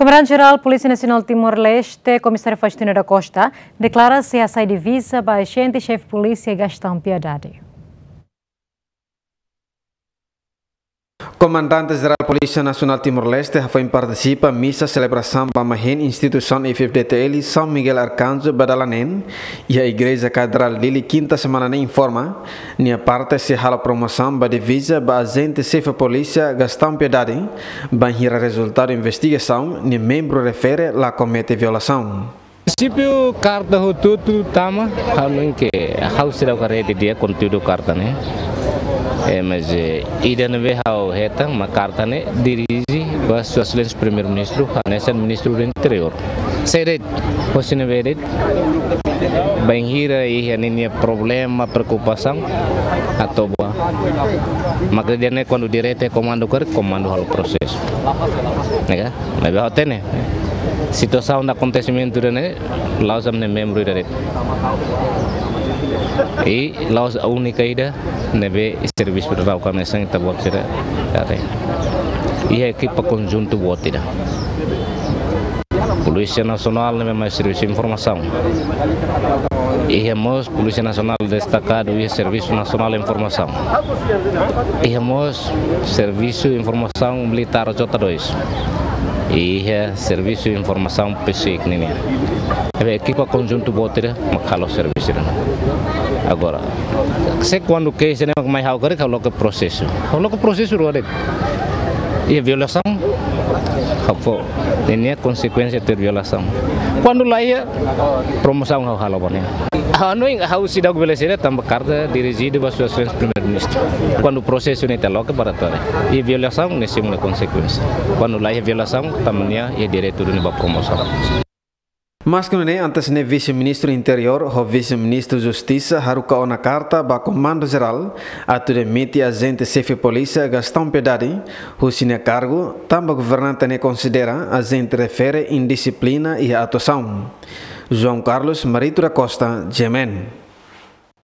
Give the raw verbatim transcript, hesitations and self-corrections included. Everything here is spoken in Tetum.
Komandante Jerál Polísia Nasionál Timor-Leste, Komisáriu Faustino da Costa, deklara sei hasai divisa ba ajente xefe polísia Gastão Piedade. Komandante Jerál Polísia Nasionál Timor-Leste hafoin partisipa misa selebrasaun ba mahin instituisaun F F D T L São Miguel Arcanjo ba dala neen iha Igreja Katedrál Dili, kinta semana ne'e, informa nia parte sei halo promosaun ba divisa ba ajente xefe polísia Gastão Piedade, bainhira rezultadu investigasaun nia membru refere la komete violasaun. Prinsípiu karta hotu-hotu tama, ha'u hanoin ke ha'u seidauk haree didi'ak konteúdu karta ne'e. Eh, mas, eh, ida ne'ebé ha'u hetan mak karta ne'e dirije ba Sua Exelénsia Primeiru-Ministru, hanesan Ministru do Interiór. Sei de'it, hosi ne'ebé de'it, bainhira iha ninia problema, preokupasaun, atu ba. Maka ida-ne'e kuandu diretu komandu karik, komandu halo prosesu. Ne'e ka? Ne'ebé ha'u hatene. Situasaun no akontesimentu ida-ne'e, la'ós ami-nia membru ida de'it. I la'ós únika ida ne'ebé servisu rau kami sang ita-boot sira. Iha ekipa konjuntu boot ida. Polísia Nasionál ne'ebé mai servisu informasaun. Iha mós Polísia Nasionál destakadu iha Servisu Nasionál Informasaun. Iha mós Servisu Informasaun Militár J dois. Iha Servisu Informasaun PSIC nian. Ne'ebé ekipa konjuntu boot ida mak halo servisu ida. Agora, se kuandu keixa ne'e mak mai ha'u karik ha'u loke prosesu. Ha'u loke prosesu rua de'it. Iha violasaun, ha'u fó ninia konsekuénsia tuir violasaun. Kuandu la iha, promosaun ha'u halo ba nia. Ha'u hanoin ha'u seidauk bele sira tanba karta dirijidu ba Sua Exelénsia Primeiru-Ministru. Kuandu prosesu ne'e ita loke para tore. Iha violasaun ne'e simu nia konsekuénsia. Kuandu la iha violasaun, tanba nia iha direitu duni ba promosaun. Maske nune'e, antes ne'e Vise-Ministru Interiór ho Vise-Ministru Justisa haruka ona karta ba Komandu Jerál atu demite ajente xefe polísia Gastão Piedade husi nia kargu, tanba governante ne'e konsidera ajente refere indixiplina iha atuasaun. João Carlos Marito da Costa, G M N.